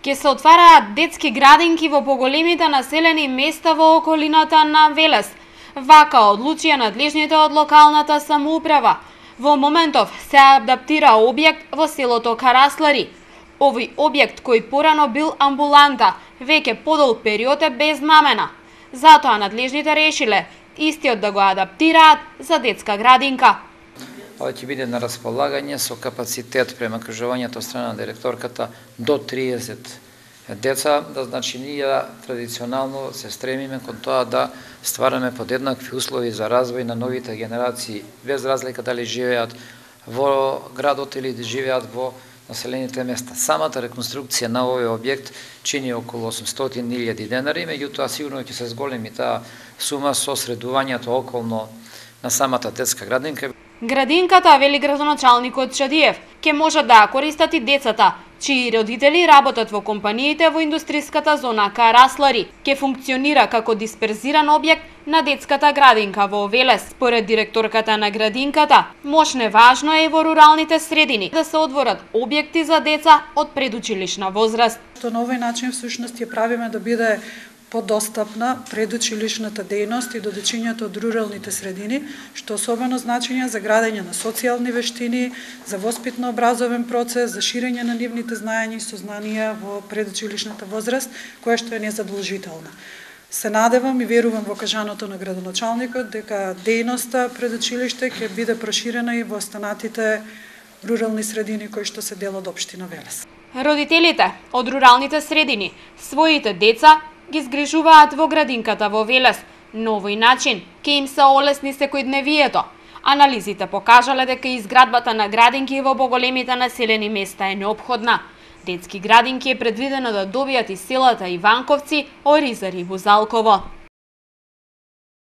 Ке се отвараат детски градинки во поголемите населени места во околината на Велес. Вака одлучија надлежните од локалната самоуправа. Во моментов се адаптира објект во селото Караслари. Овој објект кој порано бил амбуланта, веќе подолг период е без намена. Затоа надлежните решиле истиот да го адаптираат за детска градинка. Ова ќе биде на располагање со капацитет према кажувањето од страна на директорката до 30 деца, да значи ние традиционално се стремиме кон тоа да ствараме подеднакви услови за развој на новите генерации, без разлика дали живеат во градот или да живеат во населените места. Самата реконструкција на овој објект чини околу 800.000 денари, меѓутоа сигурно ќе се зголеми таа сума со средувањето околно на самата детска градинка. Градинката, вели градоначалникот Шадиев, ќе можат да ја користат и децата, чии родители работат во компаниите во индустријската зона Караслари. Ќе функционира како дисперзиран објект на детската градинка во Велес. Според директорката на градинката, мошне важно е и во руралните средини да се отворат објекти за деца од предучилишна возраст. На овој начин всушност ја правиме да биде подостапна предучилишната дејност и до дечињата од руралните средини, што особено значење за градење на социјални вештини, за воспитно-образовен процес, за ширење на нивните знаења и сознанија во предучилишната возраст, која што е незадолжителна. Се надевам и верувам во кажаното на градоначалникот дека дејноста предучилиште ќе биде проширена и во останатите рурални средини кои што се дел од општина Велес. Родителите од руралните средини своите деца ги згрижуваат во градинката во Велес, но овој начин ќе им се олесни секојдневието. Анализите покажале дека изградбата на градинки во поголемите населени места е неопходна. Детски градинки е предвидено да добијат и селата Иванковци, Оризар и Бузалково.